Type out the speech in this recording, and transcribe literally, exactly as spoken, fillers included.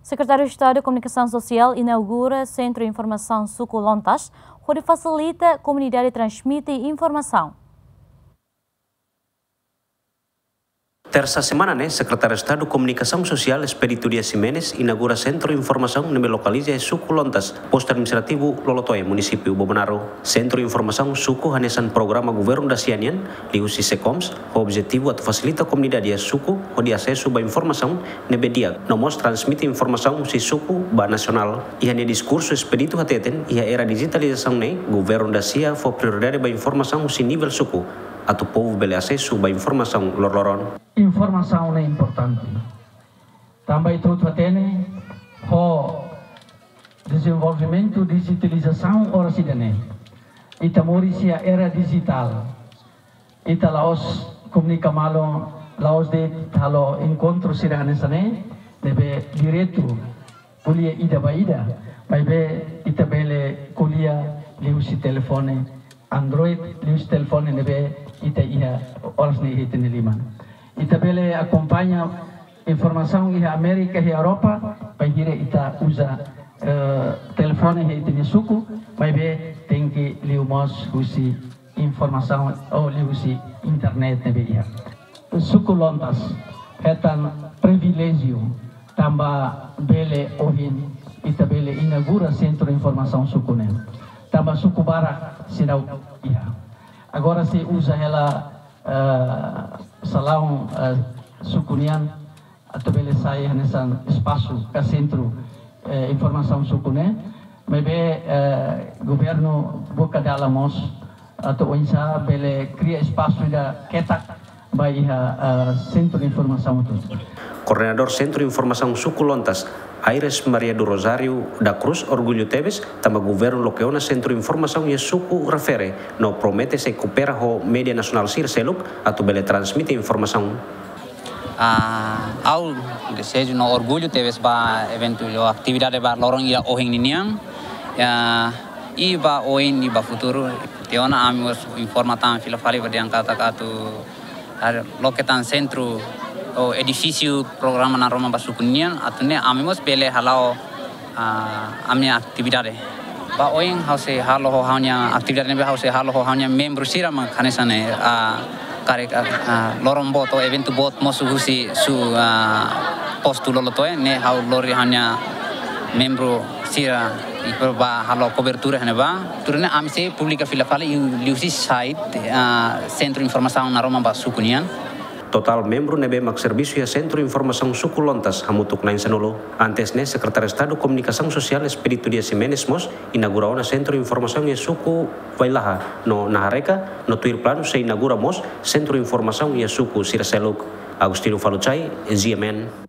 Sekretáriu Estadu Komunikasaun Sosiál inaugura Sentru Informasaun Suku Lontas, hodi fasilita komunidade transmite informasaun. Tersa semana ne'e, Sekretáriu Estadu Komunikasaun Sosiál Expedito Dias Ximenes inaugura Sentru Informasaun ne'ebé lokaliza iha Suku Lontas, Postu Administrativu Lolotoe, Munisípiu Bobonaro. Sentru Informasaun Suku hanesan programa governu dasia nian, liuhusi SECOMS, ho objetivu atu fasilita komunidade iha suku hodi asesu ba informasaun ne'ebé di'ak, no mós transmite informasaun husi suku ba nasionál. Iha nia diskursu, Expedito hateten, iha era dijitalizasaun ne'e, governu dasia fó prioridade ba informasaun husi nivel suku, atu povu bele asesu ba informasaun loroloron. Informasaun ne'e importante. Tanba ita hotu hatene, ho dezenvolvimentu dijitalizasaun oras ida-ne'e, ita moris iha era dijitál. Ita la'ós komunika malu, la'ós de'it halo enkontru sira hanesan ne'e, ne'ebé diretu, ko'alia ida ba ida, maibé ita bele ko'alia liuhusi telefone Android, liuhusi telefone ne'ebé ita iha oras ne'e iha ita-nia liman. Ita bele akompaña informasaun iha Amérika, iha Europa, bainhira ita uza, eh, telefone iha ita-nia suku, maibé tenke liu mós husi informasaun ou liuhusi internet ne'ebé iha. Suku Lontas hetan priviléjiu tanba bele ohin ita bele inaugura Sentru Informasaun Suku ne'e. Tanba suku barak seidauk iha. Agora sei uza hela, eh, salaun, eh, suku nian atu bele sai hanesan espasu ka sentru, eh, informasaun suku ne'e. Maibé, eh, governu buka dalan mós atu oinsá bele kria espasu ida ketak ba iha, eh, sentru informasaun hotu. Koordenadór Sentru Informasaun Suku Lontas, Aires Maria do Rosário da Cruz, orgullu tebes tanba governu loke ona Sentru Informasaun iha suku refere, no promete sei koopera ho média nasionál sira seluk atu bele transmite informasaun. Ah, ha'u dezeju no orgullu tebes ba eventu ou atividade ba loron ida ohin ninian. Ya, i ba oin i ba futuru, tiha ona ami mós informa tan fila fali ba dehan katak atu, ah, loke tan sentru ou edifísiu programa Naroman ba Suku nian, atu nune'e ami mós bele hala'o, ah, ami-nia atividade. Ba oin ha'u sei halo ho ha'u-nia atividade ne'ebé ha'u sei halo ho ha'u-nia membru sira mak hanesan ne'e, ah, karik, ah, ah, loron boot ou eventu boot mosu husi su, ah, postu Lolotoe ne'e ha'u lori ha'u-nia membru sira i ba halo kobertura iha ne'ebá. Tuir ne'e ami sei publika fila fali liuhusi site, ah, Sentru Informasaun Naroman ba Suku nian. Totál membru ne'ebé mak servisu iha Sentru Informasaun Suku Lontas hamutuk na'in-sanulu. Antes ne'e, Sekretáriu Estadu Komunikasaun Sosiál Expedito Dias Ximenes mós inaugura ona Sentru Informasaun iha suku Vailaha no Nahareka, no tuir planu sei inaugura mós Sentru Informasaun iha suku sira seluk. Agostinho Faluchai, G M N.